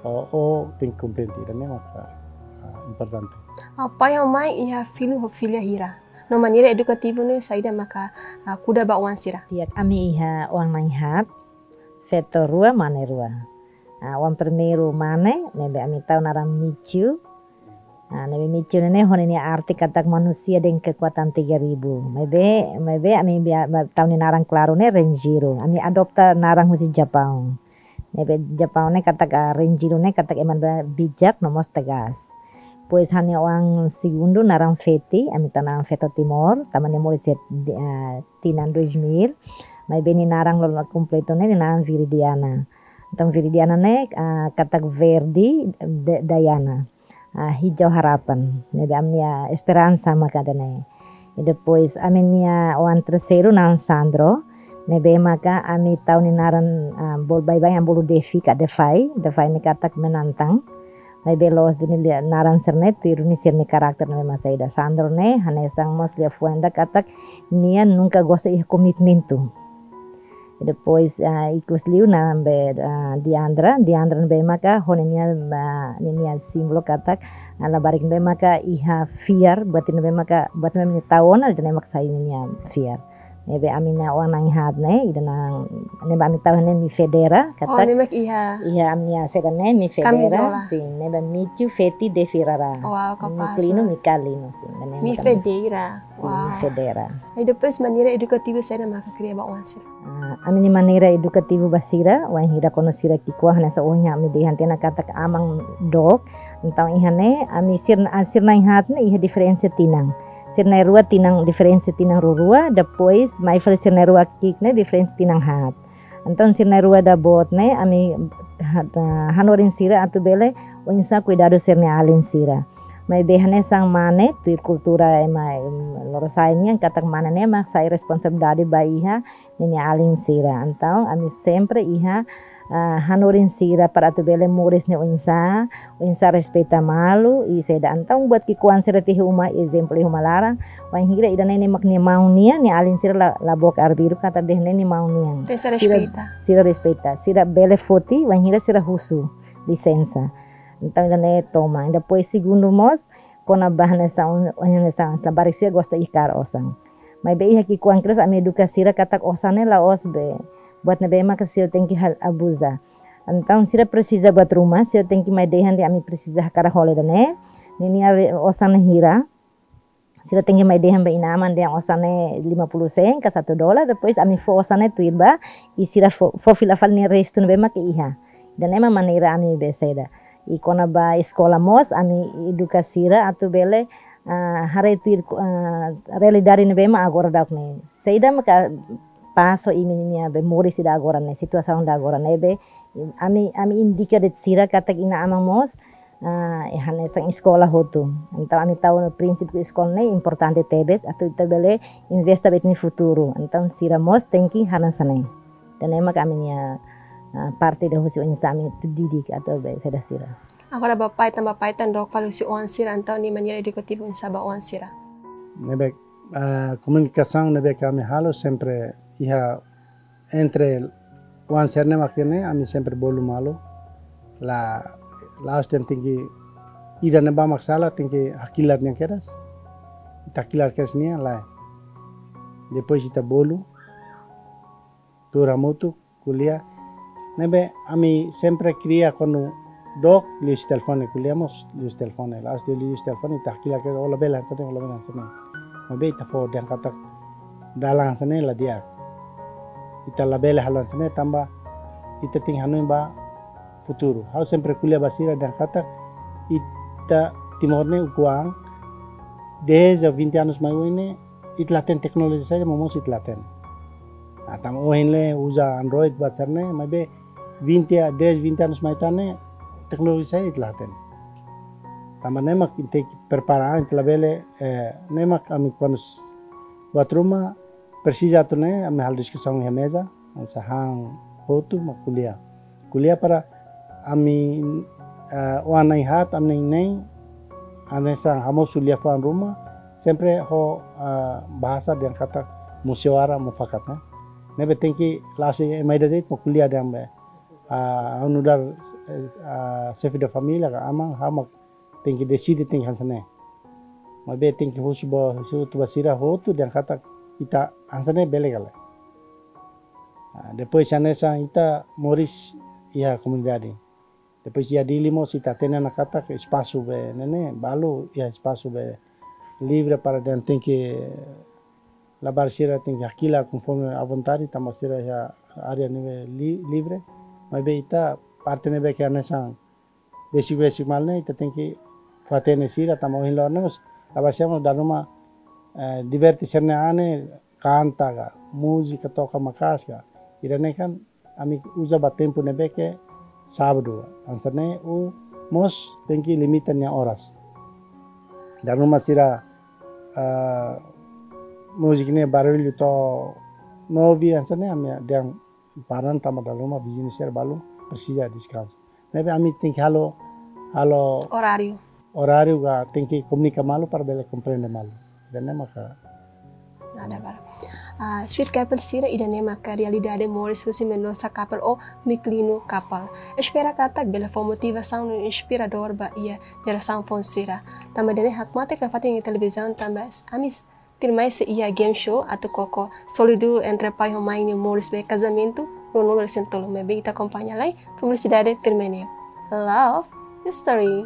ou, ou tenke kontente, ida-ne'e maka, eh, importante. Ah, pai ho mãe iha filho ho filha hira? No maneira edukativu ne'e saida maka, ah, kuda ba oan sira? Di'ak, ami iha oan na'in haat, feto rua, mane rua. Ah, oan primeiru mane, ne'ebé ami tau naran Michu. Ah, ne'ebé Michu ne'e ho ninia arte katak manusia dengan kekuatan tiga ribu. Maibé, maibé ami bia, ba, tau nia naran klaru ne'e Renjiro. Ami adopta naran husi Japaun. Ne'ebé Japaun ne'e katak, ah, Renjiro ne'e katak ema ne'ebé bijak no mós tegas. Depois ha'u-nia oan segundu naran Feti, ami tau naran feto Timor, tanba nia moris iha, ah, tinan dois mil. Maibé nia naran loloos kompletu ne'e, nia naran Viridiana. Entaun Viridiana ne'e, ah, katak verde, de-, Diana. Ah, hijau harapan. Ne'ebé ami-nia esperansa maka ida-ne'e. I depois ami-nia oan terseiru naran Sandro. Ne'ebé maka ami tau nia naran, ah, bolu baibain ami bolu Devi ka Defai. Defai ne'e katak menantang. Maibé loos duni lia naran sira-ne'e, tuir duni sira-nia karakter ne'ebé mak saida. Sandro ne'e, hanesan mós liafuan ida katak nia nunka gosta iha komitmentu. Depois, ah, ikus liu naran be, ah, Diandra, Diandra ne'ebé maka, ho ninia, ah, ninia símbolu katak, ah, labarik ne'ebé maka iha fiar, buat ne'ebé maka, buat ne'ebé mak tau ona, ida-ne'e mak sai ninia fiar. Ne'ebé ami-nia oan na'in haat ne'e, ida-ne'e, ne'ebé ami tau ne'e Mifedera, oh, katak ne'e mak iha, iha ami-nia seda ne'e Mifedera, kamizola. Sin, ne'ebé Michu, Feti, Devi Rara. Wow, kapás, Miklino, wah. Mikalino, sin, ida-ne'e mak Mifedera. Sin, wow. Mifedera. I depois maneira edukativu saida maka kria ba oan sira? Ah, ami-nia maneira edukativu ba sira, wainhira kuandu sira ki'ikoan hanesan ohin ami dehan tiha ona katak aman dook, entaun iha ne'e, ami sira, ah, sira na'in haat ne'e iha diferensa tinan. Sira na'in rua tinan, diferensa tinan rua-rua, depois mai fali sira na'in rua ki'ik ne'e diferensa tinan haat. Entaun sira na'in rua ida boot ne'e, ami ha-, ah, hanorin sira atu bele oinsá kuidadu sira-nia alin sira. Maibé hanesan mane, tuir kultura ema, em, lorosa'e nian katak mane ne'e mak sai responsabilidade ba iha ninia alin sira. Entaun ami sempre iha, ah, hanorin sira para atu bele moris ne'e oinsá, oinsá respeita malu, i saida. Entaun buat ki'ikoan sira tiha uma, ezemplu iha uma laran, wainhira ida-ne'e ne'e mak nia maun nian, nia alin sira la, la book arbiru katak ida-ne'e nia maun nian. Entaun sira, sira respeita. Sira respeita. Sira bele foti, wainhira sira husu lisensa. Entaun ida-ne'e toman. Depois segundu mós, kona-ba hanesan, hanesan labarik sira gosta iha kaer osan. Maibé iha ki'ikoan kedas ami eduka sira katak osan ne'e la'ós be buat ne'ebé maka sira tenke hal abuza. Entaun sira presiza buat ruma, sira tenke mai dehan dehan ami presiza hakarak hola ida-ne'e. Ninia re-, osan ne'e hira. Sira tenke mai dehan ba inan-aman dehan osan ne'e lima puluh sen ka satu dolar, depois ami fó osan ne'e tuir ba, i sira fó, fó fila fali nia restu ne'ebé maka iha. Ida-ne'e mak maneira ami be saida. I kona-ba eskola mós, ami eduka sira atu bele, ah, haree tuir, ah, realidade ne'ebé mak agora daudaun ne'e. Saida maka paso imi-nia be moris ida agora ne'e, situasaun ida agora ne'e be, ami, ami indika de'it sira katak inan-aman mós, ah, hanesan eskola hotu. Entaun, ami tau prinsípiu eskola ne'e importante tebes, atu ita bele investe ba ita-nia futuru. Entaun, sira mós tenke hanesan ne'e. Ida-ne'e mak ami-nia, ah, parte ida husi oinsá ami atu didik atu be saida sira. Agora ba pai tan, ba pai tan dook fali husi oan sira, entaun nia maneira edukativu oinsá ba oan sira. Ne'ebé, ah, komunikasaun ne'ebé ke ami halo sempre iha entre oan sira-ne'e mak ne'e ami sempre bolu malu. La, la'ós dehan tenke ida ne'ebá mak sala, tenke hakilar nia kedas. Ita hakilar kedas nia, lae. Depois ita bolu, tuur hamutuk, ko'alia. Ne'ebé ami sempre kria kuandu dook liuhusi telefone, ko'alia mós liuhusi telefone. La'ós dehan liuhusi telefone, ita hakilar kedas, ó labele hanesan ne'e, ó labele hanesan ne'e. Maibé ita fó dehan katak dalan hanesan ne'e la di'ak. Ita labele halo hanesan ne'e tanba ita tenke hanoin ba futuru. Ha'u sempre ko'alia ba sira dehan katak ita Timor ne'e ukun-an, dez a vinte anos mai oin ne'e, ita la hatene teknolojia saida, momoos ita la hatene. Ah, tanba ohin ne'e uza Android buat sira-ne'e, maibé vinte a, dez, vinte anos mai tan ne'e, teknolojia saida ita la hatene. Tanba ne'e mak ita tenke prepara, ita labele, eh, ne'e mak ami kuandu s-, buat ruma, presiza atu ne'e, ami halo diskusaun iha meza, hanesan han hotu mak ko'alia. Ko'alia para ami, eh, oan na'in-haat, ami na'in-neen, hanesan hamosu lia-fuan ruma, sempre ho, eh, bahasa dehan katak musyawara mufakat, ne'e. Ne'ebé tenke la'ós ema ida de'it mak ko'alia dehan be, ah, ha'u nu'udar, eh, ah, xefe da família ka aman, ha'u mak tenke deside, tenke hanesan ne'e. Maibé tenke husu ba, husu ba sira hotu dehan katak ita hanesan ne'e bele ka lae. Ah, depois hanesan ita moris iha komunidade. Depois iha Dili mós ita hatene ona katak espasu be ne'e ne'e, balu iha espasu be livre para dehan tenke labarik sira tenke hakilar konforme à vontade, tanba sira iha área ne'ebé li-, livre. Maibé ita parte ne'ebé ke hanesan besik-besik malu ne'e, ita tenke fó-hatene sira, tanba ohin loron ne'e mós, labarik sira mós dala ruma, eh, diverte sira-nia an ne'e, kanta ka, múzika, toka maka'as ka. Ida-ne'e kan, ami uza ba tempu ne'ebé ke sábadu, hanesan ne'e, ou mós tenke limita nia oras. Dala ruma sira, ah, múzika ne'e barullu to'o nove, hanesan ne'e, ami dehan para tanba dala ruma viziñu sira balu presiza deskansa. Ne'ebé ami tenke halo, halo oráriu. Oráriu ka tenke komunika malu para bele komprende malu. Ida-ne'e maka. Nada para. Ah, Sweet Couple sira, ida-ne'e maka realidade moris husi Mendonça Couple ou Miklino Couple. Espera katak bele fó motivasaun no inspiradór ba iha jerasaun foun sira. Tanba ida-ne'e hakmatek nafatin iha televizaun tanba ami tuirmai sei iha game show atu koko sólidu entre pai ho mãe nia moris ba kazamentu ruanulu-resin-tolu. Maibé ita akompaña lai, publisidade tuirmai ne'e. Love History.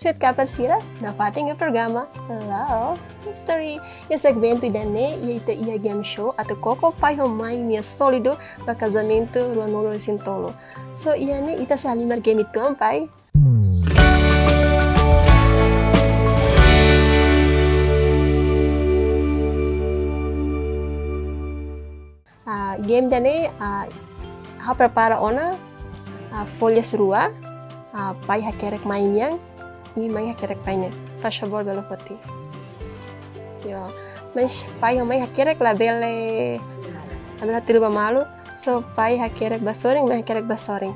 Sweet Couple sira, nafatin iha programa Love History. Iha segmentu ida-ne'e, iha ita iha game show atu koko pai ho mãe nia sólidu ba kazamentu ruanulu-resin-tolu. So, iha ne'e ita sei halimar game ituan, pai. Ah, game ida-ne'e, ah, ha'u prepara ona, ah, folhas rua, ah, pai hakerek mãe nian, i mãe hakerek pai nian. Faz favor, bele foti. Yo, mas pai ho mãe hakerek labele, labele hatudu ba malu. So, pai hakerek ba sorin, mãe hakerek ba sorin.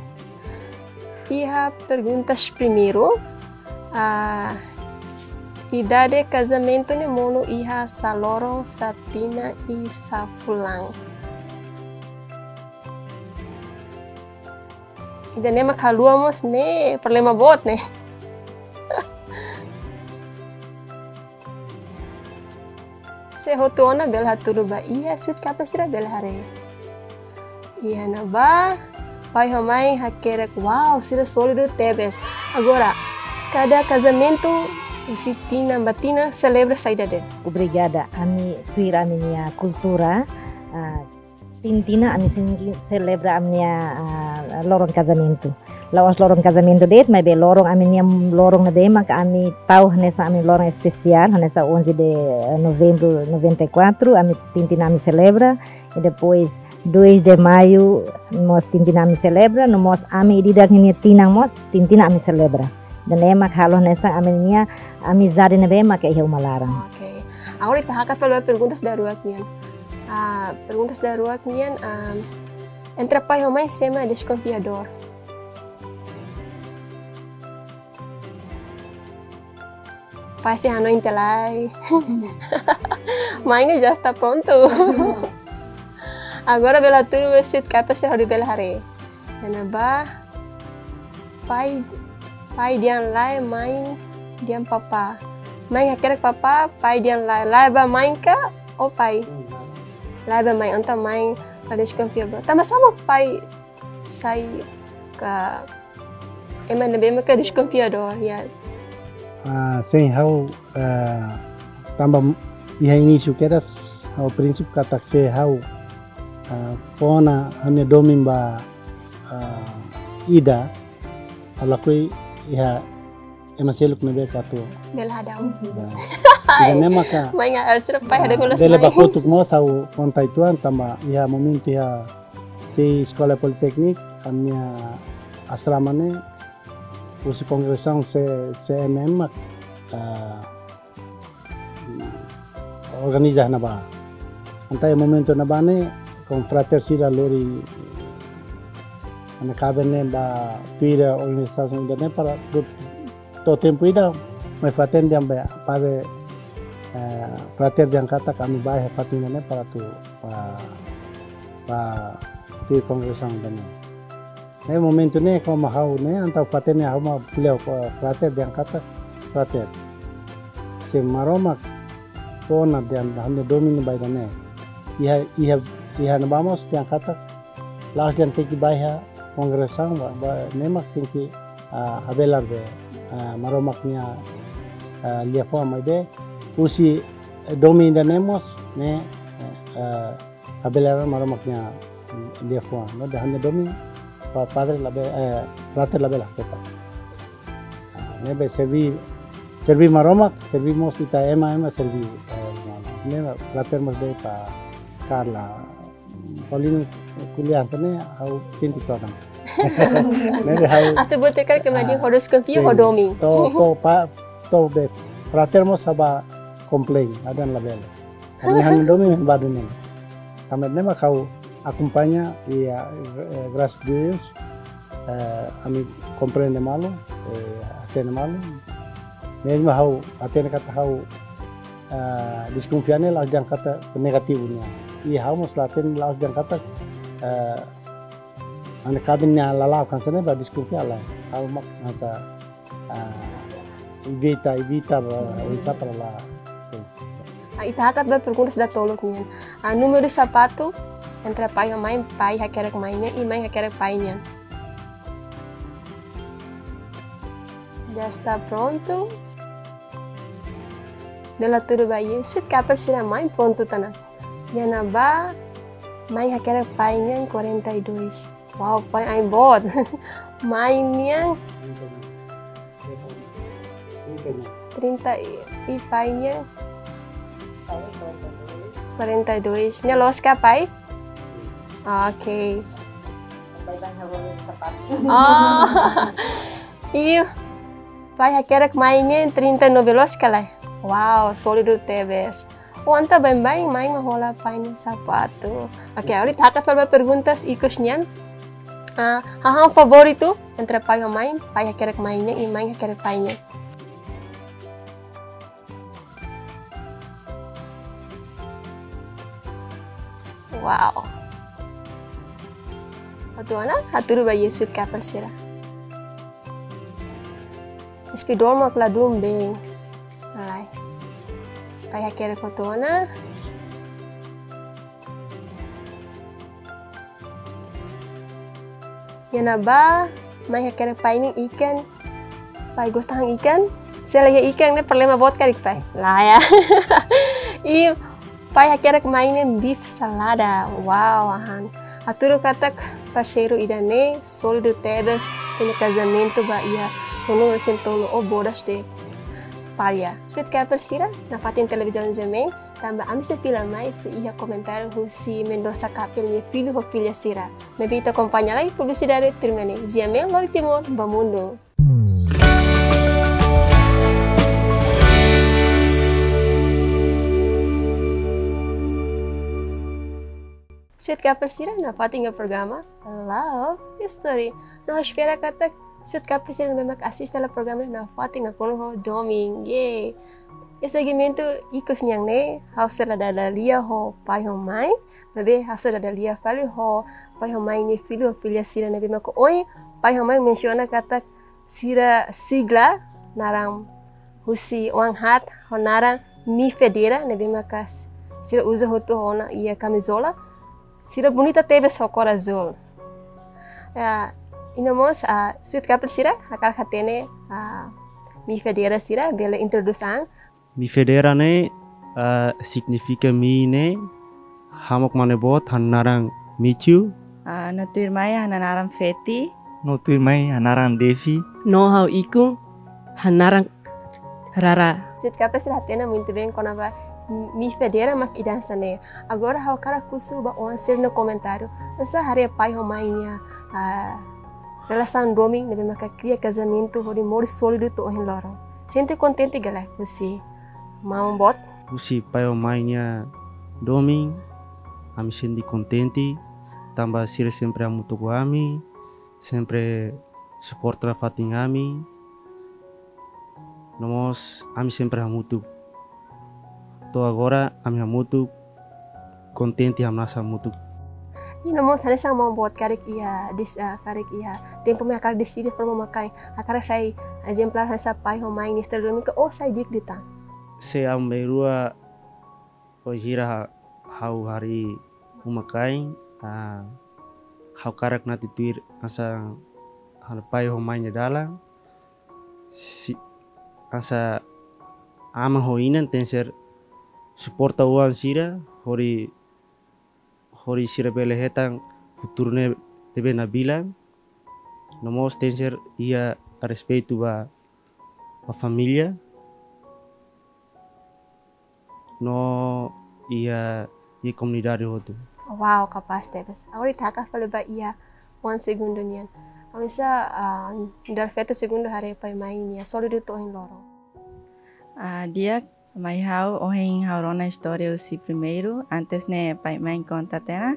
Iha perguntas primeiru, ah, idade kazamentu ne'e monu iha sá loron, sá tinan i sá fulan? Ida-ne'e mak haluha mós ne'e, problema boot ne'e. Se hotu ona bele hatudu ba iha, Sweet Couple sira bele haree. Iha ne'ebá, pai ho mãe hakerek, wow, sira sólidu tebes. Agora, kada kazamentu husi tinan ba tinan selebra saida de'it? Obrigada, ami tuir ami-nia kultura, ah, tin tinan ami sei selebra ami-nia, ah, loron kazamentu. La'ós loron kazamentu de'it, maibé loron ami-nia loron ne'ebé maka ami tau hanesan ami loron espesiál, hanesan onze de novembro noventa e quatro, ami tintin ami selebra, i depois dois de maio mós tintin ami selebra, no mós ami ida-idak ninia tinan mós tintin ami selebra. Ida-ne'e mak halo hanesan ami-nia amizade ne'ebé maka iha uma laran. Oke. Agora ita hakat fali ba perguntas daruak nian. Ah, perguntas daruak nian, ah, entre pai ho mãe sé mak deskonfiadór? Pai sei hanoin tiha lai. Mãe ne'e já está pronto. Agora bele hatudu sweet cup sira hodi bele haree. Iha ne'ebá, pai, pai dehan lae, mãe dehan papá. Mãe hakerek papá, pai dehan lae. Lae ba mãe ka ou pai? Lae ba mãe, entaun mãe la deskonfia ba. Tanba sá mak pai sai ka ema ne'ebé maka deskonfiadór, ya. Ah, sin, ha'u, ah, tanba iha inísiu kedas, ha'u prinsípiu katak se ha'u, ah, fó ona ha'u-nia domin ba, ah, ida, ha'u lakohi iha ema seluk ne'ebé atu bele hadau. Ya. Ida-ne'e maka, mãe, ah, sira pai, ah, hadau kelas bele mãe. Ba kotuk mós ha'u konta uitoan tanba iha momentu iha sei eskola politeknik, ami-nia asrama ne'e husi kongregasaun C-, C N M mak, ah, organiza ne'ebá. Entaun iha momentu ne'ebá ne'e, konfrater sira lori ami-nia kaben ne'e ba tuir organizasaun ida-ne'e para du-, to'o tempu ida, mai fatin dehan be, padre, eh, frater dehan katak ami bá iha fatin ne'e para atu, ba, ba tuir kongregasaun ida-ne'e. Ne'e momentu ne'e, komu ha'u ne'e, entaun fatin ne'e ha'u mak ko'alia ho frater dehan katak, frater, se Maromak fó ona dehan ha'u-nia domin ba ida-ne'e. Iha, iha, iha ne'ebá mós dehan katak, la'ós dehan tenke bá iha kongregasaun ba, ba, ne'e mak tenke, ah, habelar be, ah, Maromak nia, ah, liafuan maibé, husi, eh, domin ida-ne'e mós, ne'e, eh, habelar Maromak nia liafuan. Ne'ebé ha'u-nia domin, pa-, padre labele, eh, frater labele haksopa. Ah, ne'ebé serví, serví Maromak, serví mós ita ema, ema serví, eh, Maromak. Ne'e frater mós dehan ba Carla, Paulino ko'alia hanesan ne'e, ha'u sente todan. Ne'ebé ha'u, ah, sin. To'o, to'o, pa, to'o be, frater mós sei bá komplain, ha'u dehan labele. Ami ha'u-nia domin ba duni. Tanba ne'e mak ha'u akompaña i, eh, graças a Deus, eh, ami komprende malu, eh, hatene malu. Mezmu ha'u hatene katak ha'u, eh, deskonfia ne'e la'ós dehan katak negativu nian. I ha'u mós la hatene la'ós dehan katak, eh, ami-nia kaben nia lala'ok hanesan ne'e ba deskonfia lae. Ha'u mak hanesan, ah, evita, evita ba, oinsá para la, sin. Ah, ita hakat ba perguntas datoluk nian. Ah, númeru sapatu entre pai ho mãe, pai hakerek mãe nian, i mãe hakerek pai nian. Já está pronto? Bele hatudu ba iha sweet cup sira, mãe prontu tiha ona. Iha ne'ebá, mãe hakerek pai nian quarenta e dois. Wow, pai ain boot. Mãe nian trinta i, i pai nian quarenta e dois. Ne'e loos ka, pai? Oke. Oh. Ih, pai hakerek mãe nian trinta e nove, loos ka lae? Wow, sólidu tebes. Oh, entaun baibain mãe mak hola pai nia sapatu. Oke, agora ita hakat fali ba perguntas ikus nian. Ah, hahán favoritu entre pai ho mãe, pai hakerek mãe nian, i mãe hakerek pai nian? Wow. Hotu ona, hatudu ba iha sweet cup sira. Spidol mak ladún bee. Alai. Pai hakerek hotu ona. Iha ne'ebá, mãe hakerek pai nian ikan. Pai gosta han ikan. Se la iha ikan ne'e problema boot karik, pai? Lae. I pai hakerek mãe nian beef salada. Wow, hahán. Hatudu katak Parseiru ida-ne'e sólidu tebes, tenke kazamentu ba iha tolunulu-resin-tolu ou bodas de palha. Sweet Couple sira, nafatin televizaun GMN, tanba ami sei fila mai se iha komentáriu husi Mendoza Couple nia fillu ho filha sira. Maibé ita akompaña lai publisidade, tuirmai ne'e GMN lori Timor ba mundu. Sweet Couple sira, nafatin iha programa Love Story. No ha'u espera katak Sweet Couple sira ne'ebé mak asiste hela programa ne'e nafatin nakonu ho domin. Yeay. Iha segmentu ikus nian ne'e, ha'u sei la dada lia ho pai ho mãe, maibé ha'u sei dada lia fali ho pai ho mãe nia fillu ho filha sira ne'ebé mak ohin pai ho mãe mensiona katak sira sigla naran husi oan haat ho naran Mi Federa ne'ebé maka sira uza hotu ona iha kamizola. Sira bonita tebes ho kór azúl. Ah, i no mós, ah, Sweet Couple sira, hakarak hatene, ah, Mi Federa sira, bele introdús an. Mi Federa ne'e, ah, signifika mi ne'e, hamook mane boot, ha'u-nia naran Michu. Ah, no tuirmai ha'u-nia naran Feti. No tuirmai ha'u-nia naran Devi. No ha'u ikun, ha'u-nia naran Rara. Sweet Couple sira hatene muito bem kona-ba Mi Federa mak ida hanesan ne'e. Agora ha'u hakarak husu ba oan sira-nia komentáriu. Oinsá haree pai ho mãe nia, ah, relasaun domin ne'ebé maka kria kazamentu hodi moris sólidu to'o ohin loron. Sente kontente ka lae husi maun boot? Husi pai ho mãe nia domin, ami sente kontente, tanba sira sempre hamutuk ho ami, sempre suporta nafatin ami. No mós ami sempre hamutuk. To'o agora ami hamutuk, kontente, hamnasa hamutuk. I no mós hanesan maun boot karik iha dis-, ah, karik iha tempu mai hakarak deside fó uma-kain, hakarak sai ezemplár hanesan pai ho mãe nia estándar domin ka oinsá di'ak liután? Se ami bainrua bainhira ha-, ha'u harii uma-kain, ah, ha'u hakarak nafatin tuir hanesan ha'u-nia pai ho mãe nia dalan, si-, hanesan aman ho inan tenke suporta oan sira, hodi, hodi sira bele hetan futuru ne'ebé nabilan, no mós tenke iha respeitu ba, ba família, no iha, iha komunidade hotu. Wow, kapás tebes. Agora ita hakat fali ba iha oan segundu nian. Oinsá, ah, nu'udar feto segundu haree pai mãe nia sólidu to'o ohin loron? Ah, di'ak, mai ha'u, ohin ha'u rona istória husi primeiru, antes ne'e pai mãe konta tiha ona,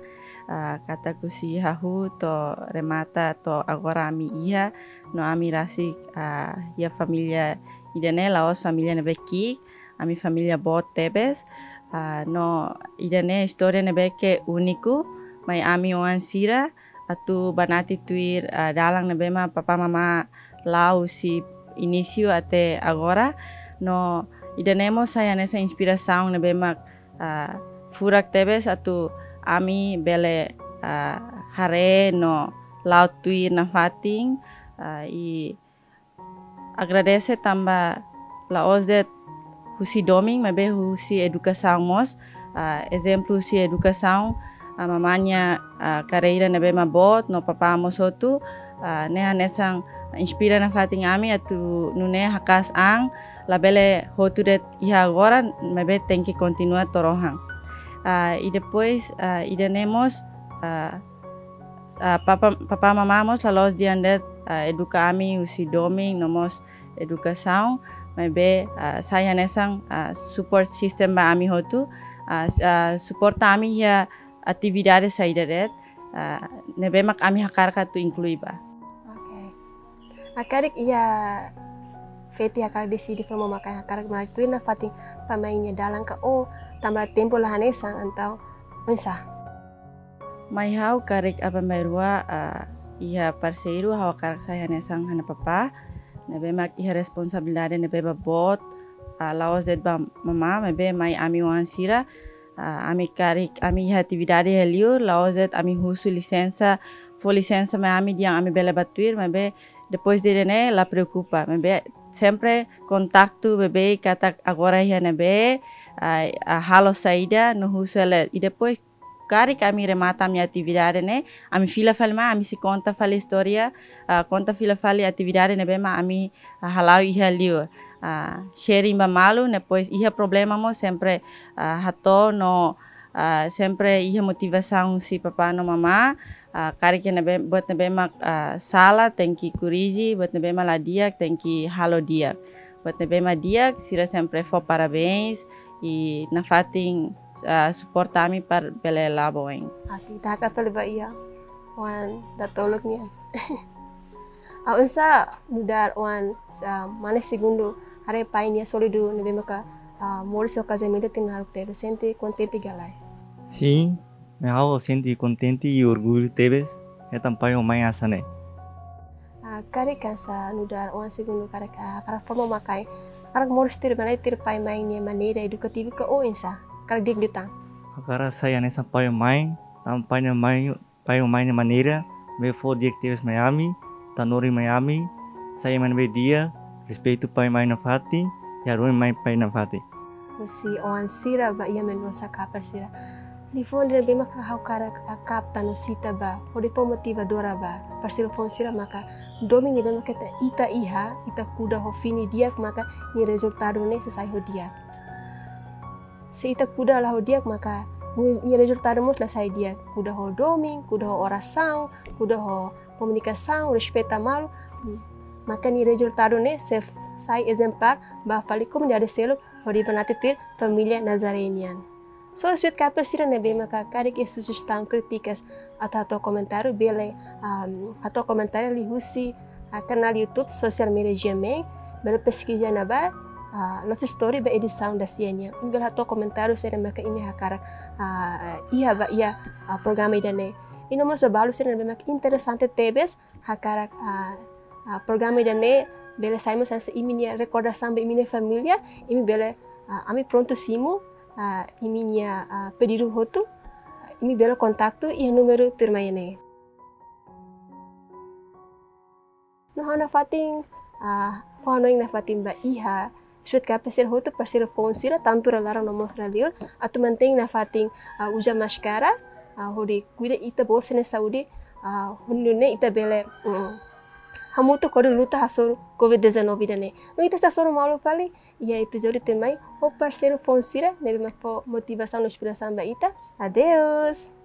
ah, katak husi hahú to'o remata to'o agora ami iha, no ami rasik, ah, iha família ida-ne'e la'ós família ne'ebé ki'ik, ami família boot tebes, ah, no ida-ne'e istória ne'ebé ke úniku, mai ami oan sira atu bá nafatin tuir, ah, dalan ne'ebé mak papá mamá la'o husi inísiu até agora, no ida-ne'e mós sai hanesan inspirasaun ne'ebé mak, ah, furak tebes atu ami bele, ah, haree no la'o tuir nafatin, ah, i agradese tanba la'ós de'it husi domin, maibé husi edukasaun mós. Ah, ezemplu husi edukasaun, ah, mamá nia, ah, karreira ne'ebé mak boot, no papá mós hotu, ah, ne'e hanesan inspira nafatin ami atu nune'e haka'as an, labele hotu de'it iha agora, maibé tenke kontinua to'o rohan. Ah, i depois, ah, ida-ne'e mós, ah, ah, papá, papá mamá mós la'ós dehan de'it, ah, eduka ami husi domin no mós edukasaun, maibé, ah, sai hanesan, ah, support system ba ami hotu, ah, s-, ah, suporta ami iha atividade saida de'it, ah, ne'ebé mak ami hakarak atu inklui ba. Oke. Ah, karik iha Feti hakarak deside fó uma-kain, hakarak mai tuir nafatin pai mãe nia dalan ka, oh, tanba tempu la hanesan, entaun oinsá? Mai ha'u karik aban-bainrua, ah, iha parseiru, ha'u hakarak sai hanesan ha'u-nia papá, ne'ebé mak iha responsabilidade ne'ebé boot, ah, la'ós de'it ba mamá, maibé mai ami oan sira, ah, ami karik, ami iha atividade iha liur, la'ós de'it ami husu lisensa, fó lisensa mai ami dehan ami bele bá tuir, maibé depois de ne'e la preokupa, maibé sempre kontaktu beibeik katak agora iha ne'ebé, ah, ah, halo saida, no husu hela, i depois karik ami remata ami atividade ne'e, ami fila fali mai, ami sei konta fali istória, ah, konta fila fali atividade ne'ebé mak ami, ah, hala'o iha liur. Ah, sharing ba malu, depois iha problema mós sempre, ah, hato'o no, ah, sempre iha motivasaun husi papá no mamá, ah, karik ne'ebé, buat ne'ebé mak, ah, sala tenke korrije, buat ne'ebé mak la di'ak tenke halo di'ak. Buat ne'ebé mak di'ak, sira sempre fó parabéns, i nafatin, ah, suporta ami para bele la'o ba oin. Oke, ita hakat fali ba iha oan datoluk nian. Ha'u oinsá nu'udar oan, ah, mane segundu haree pai nia sólidu ne'ebé maka, ah, moris ho kazamentu tinan naruk tebes, sente kontente ka lae? Sin, mai ha'u sente kontente i orgullu tebes, hetan pai ho mãe hanesan ne'e. Ah, karik hanesan nu'udar oan segundu karik, ah, hakarak forma mak hakarak moris tuir, bele tuir pai mãe nia maneira edukativu ka oinsá? Hakarak di'ak liután? Hakarak sai hanesan pai ho mãe, tanba pai nia mãe, pai ho mãe nia maneira, ne'ebé fó di'ak tebes mai ami, tanuri mai ami, sai ema ne'ebé di'ak, respeitu pai mãe nafatin, i hadomi mãe pai nafatin. Husi oan sira ba iha Mendonça Kapers sira. Liafuan ida ne'ebé maka ha'u hakarak, ah, kapta no sita ba, hodi fó motivadora ba parseiru foun sira maka, domin ne'ebé maka ita, ita iha, ita kuda ho fini di'ak maka nia rezultadu ne'e sei sai ho di'ak. Se ita kuda la ho di'ak maka nia, nia rezultadu mós la sai di'ak. Kuda ho domin, kuda ho orasaun, kuda ho komunikasaun, respeita malu, hmm, maka nia rezultadu ne'e sei f-, sai ezemplár ba fali komunidade seluk, hodi banati tuir família Nazaré nian. So, Sweet Kapers sira ne'ebé maka karik iha sujestaun, krítikas, atu hato'o komentáriu bele, am, hato'o komentáriu liuhusi, ah, kanál YouTube Social Media G M A, bele peskiza iha ne'ebá, ah, Love Story ba edisaun dasia nian. Imi bele hato'o komentáriu saida maka imi hakarak, ah, iha ba iha, ah, programa ida-ne'e. I no mós ba balu sira ne'ebé maka interesante tebes, hakarak, ah, ah, programa ida-ne'e bele sai mós hanesan imi-nia rekordasaun ba imi-nia família, imi bele, ah, ami prontu simu, ah, imi-nia, ah, pedidu hotu, imi bele kontaktu iha númeru tuirmai ne'e. No ha'u nafatin, ah, fó hanoin nafatin ba iha Sweet Kapers sira hotu, parseiru foun sira, tantu iha laran no mós iha liur, atu mantein nafatin, ah, uza máskara, ah, hodi kuida ita-boot sira-nia saúde, ah, hodi nune'e ita bele, mm, hamutuk hodi luta hasoru covid dezanove ida-ne'e. No ita sei hasoru malu fali iha epizódiu tuirmai, ho parseiru foun sira ne'ebé mak fó motivasaun no inspirasaun ba ita. Adeus!